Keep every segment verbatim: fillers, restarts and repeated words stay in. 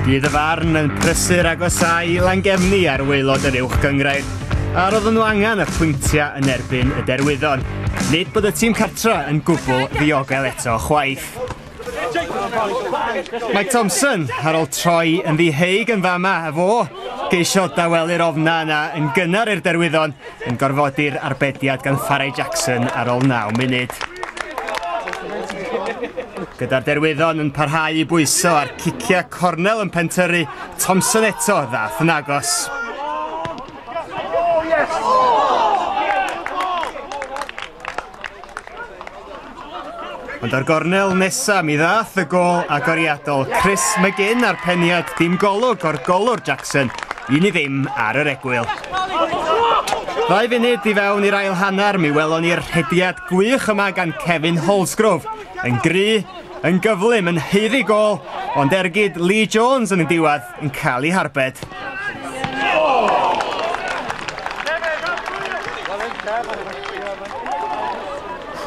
Dydd y farn yn prysur agosáu i Langefni ar waelod yr uwch gynghrair, a roedden nhw angen y pwyntiau yn erbyn y Derwyddon. Nid bod y tîm cartra yn gwbl ddiogel eto chwaith. Mike Thompson ar ôl troi yn ddiheig yn fama, a fo geisio dawelu'r ofna yna yn gynnar i'r Derwyddon yn gorfodi'r arbediad gan Farai Jackson ar ôl naw munud. Gyda'r Derwyddon yn parhau i bwyso a'r ciciau cornel yn pentyrru, Thompson eto ddath yn agos. Ond o'r gornel nesa mi ddath y gôl agoriadol Chris McGinn a'r peniad dim golwg o'r golwr Jackson, un i ddim ar yr egwyl. Ddau funud i fewn i'r ail hanner, mi welon ni'r rhediad gwych yma gan Kevin Holsgrove. Yn gry, yn gyflym, yn haeddu gôl, ond ergyd Lee Jones yn y diwedd yn cael ei harbed.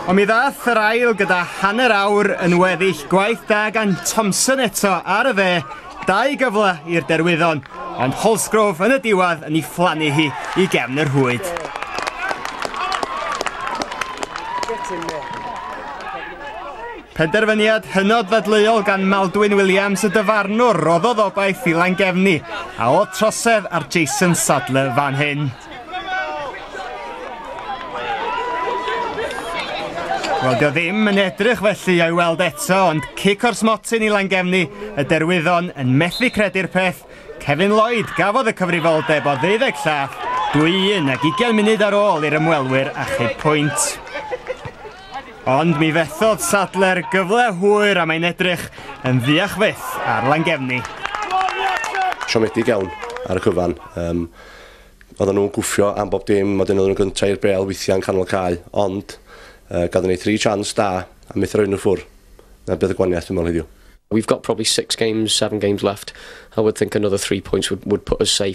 Ond mi ddath yr ail gyda hanner awr yn weddill, gwaith da gan Thompson eto ar y dde, dau gyfle i'r Derwyddon, ond Holsgrove yn y diwedd yn ei phlannu hi i gefn yr rhwyd. Penderfyniad hynod ddadleuol gan Maldwyn Williams y dyfarnwr roddodd obaith i Langefni, a oedd trosedd ar Jason Sadler fan hyn. Wel, dio ddim yn edrych felly o'i weld eto, ond cic o'r smotyn i Langefni, y Derwyddon yn methu credu'r peth. Kevin Lloyd gafodd y cyfrifoldeb o ddeuddeg llath, dwy un ag ugain munud ar ôl i'r ymwelwyr achub pwynt. Ond mi fethodd Sadler gyfle hwyr a mae'n edrych yn ddiach fyth ar Langefni. Siomedig iawn ar y cyfan. Um, oedden nhw'n gwffio am bob dim, oedden nhw'n gyntaf i'r bel weithiau yn canol cae, ond uh, gadden ni three chance da a methu rhoi nhw ffwr. Na beth y gwaniaeth dwi'n meddwl heddiw. We've got probably six games, seven games left. I would think another three points would, would put us safe.